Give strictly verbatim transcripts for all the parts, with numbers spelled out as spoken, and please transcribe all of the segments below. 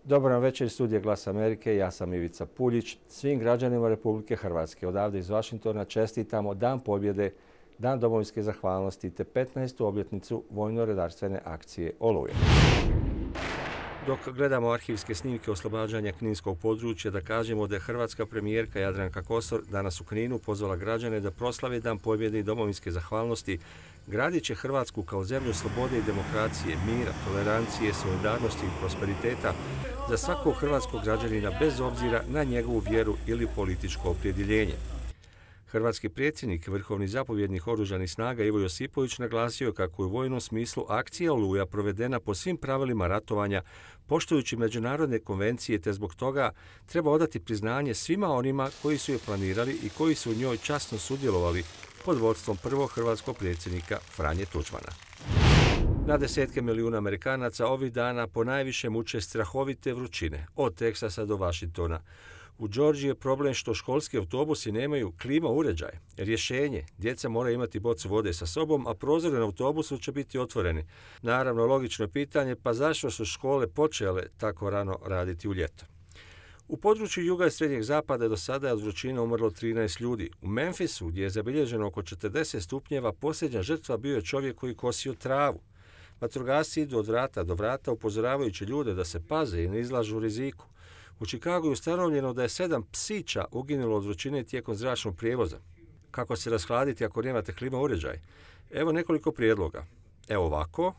Dobar vam večer iz studija Glas Amerike, ja sam Ivica Puljić. Svim građanima Republike Hrvatske odavde iz Vašingtona čestitamo Dan pobjede, Dan domovinske zahvalnosti te petnaestu obljetnicu vojno-redarstvene akcije Oluja. Dok gledamo arhivske snimke oslobađanja kninskog područja, da kažemo da je hrvatska premijerka Jadranka Kosor danas u Kninu pozvala građane da proslave Dan pobjede i domovinske zahvalnosti, gradiće Hrvatsku kao zemlju slobode i demokracije, mira, tolerancije, solidarnosti i prosperiteta za svakog hrvatskog građanina bez obzira na njegovu vjeru ili političko opredjeljenje. Hrvatski predsjednik, vrhovni zapovjednik oružanih snaga Ivo Josipović naglasio kako je u vojnom smislu akcija Oluja provedena po svim pravilima ratovanja, poštujući međunarodne konvencije, te zbog toga treba odati priznanje svima onima koji su je planirali i koji su u njoj časno sudjelovali pod vodstvom prvog hrvatskog predsjednika Franje Tuđmana. Na desetke milijuna Amerikanaca ovih dana ponajviše muče strahovite vrućine, od Teksasa do Vašingtona. U Džordžiji je problem što školski autobusi nemaju klima uređaj. Rješenje, djeca moraju imati bocu vode sa sobom, a prozori na autobusu će biti otvoreni. Naravno, logično je pitanje, pa zašto su škole počele tako rano raditi u ljeto? U području juga i srednjeg zapada do sada je od vrućine umrlo trinaest ljudi. U Memphisu, gdje je zabilježeno oko četrdeset stupnjeva, posljednja žrtva bio je čovjek koji kosio travu. Vatrogasci idu od vrata do vrata upozoravajući ljude da se paze i ne izlažu riziku. U Čikagu je ustanovljeno da je sedam psića uginulo od vrućine tijekom zračnog prijevoza. Kako se rashladiti ako nemate klima uređaj? Evo nekoliko prijedloga. Evo ovako.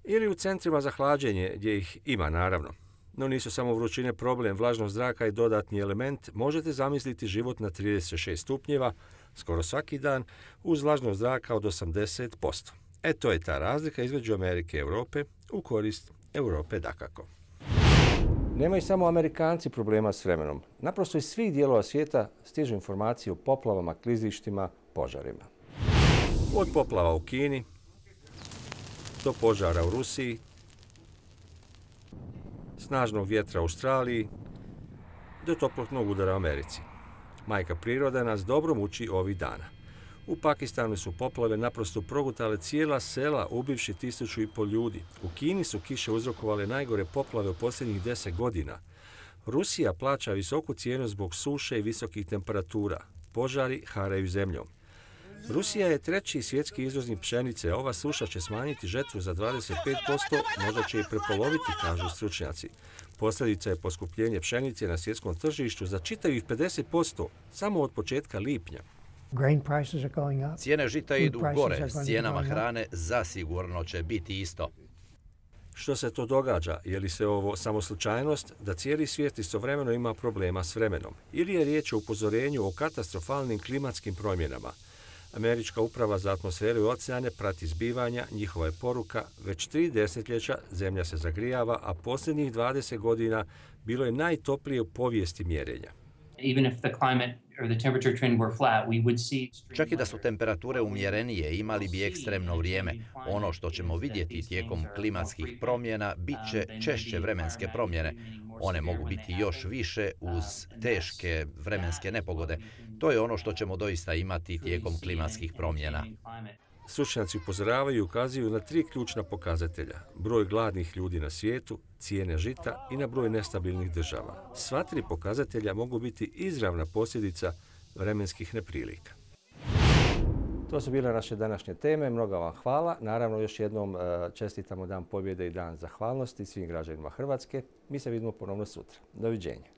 Ili u centrima za hlađenje, gdje ih ima naravno. No nisu samo vrućine problem, vlažnost zraka i dodatni element. Možete zamisliti život na trideset šest stupnjeva, skoro svaki dan, uz vlažnost zraka od osamdeset posto. E to je ta razlika između Amerike i Europe, u korist Europe dakako. Nemaju samo Amerikanci problema s vremenom. Naprosto iz svih dijelova svijeta stižu informacije o poplavama, klizištima, požarima. Od poplava u Kini, do požara u Rusiji, snažnog vjetra u Australiji, do toplotnog udara u Americi. Majka priroda nas dobro muči ovih dana. U Pakistanu su poplave naprosto progutale cijela sela, ubivši tisuću i pol ljudi. U Kini su kiše uzrokovale najgore poplave u posljednjih deset godina. Rusija plaća visoku cijenu zbog suše i visokih temperatura. Požari haraju zemljom. Rusija je treći svjetski izvoznik pšenice. Ova suša će smanjiti žetvu za dvadeset pet posto, možda će i prepoloviti, kažu stručnjaci. Posljedica je poskupljenje pšenice na svjetskom tržištu za čitavih pedeset posto samo od početka lipnja. Cijene žita idu gore, s cijenama hrane zasigurno će biti isto. Što se to događa? Je li se ovo samo slučajnost da cijeli svijet istovremeno ima problema s vremenom? Ili je riječ o upozorenju o katastrofalnim klimatskim promjenama? Američka uprava za atmosferu i oceane prati zbivanja, njihova je poruka, već tri desetljeća zemlja se zagrijava, a posljednjih dvadeset godina bilo je najtoplije u povijesti mjerenja. Čak i da su temperature umjerenije, imali bi ekstremno vrijeme. Ono što ćemo vidjeti tijekom klimatskih promjena bit će češće vremenske promjene. One mogu biti još više uz teške vremenske nepogode. To je ono što ćemo doista imati tijekom klimatskih promjena. Stručnjaci upozoravaju i ukazuju na tri ključna pokazatelja. Broj gladnih ljudi na svijetu, cijene žita i na broj nestabilnih država. Sva tri pokazatelja mogu biti izravna posljedica vremenskih neprilika. To su bile naše današnje teme. Mnogo vam hvala. Naravno, još jednom čestitamo Dan pobjede i Dan zahvalnosti svim građanima Hrvatske. Mi se vidimo ponovno sutra. Doviđenja.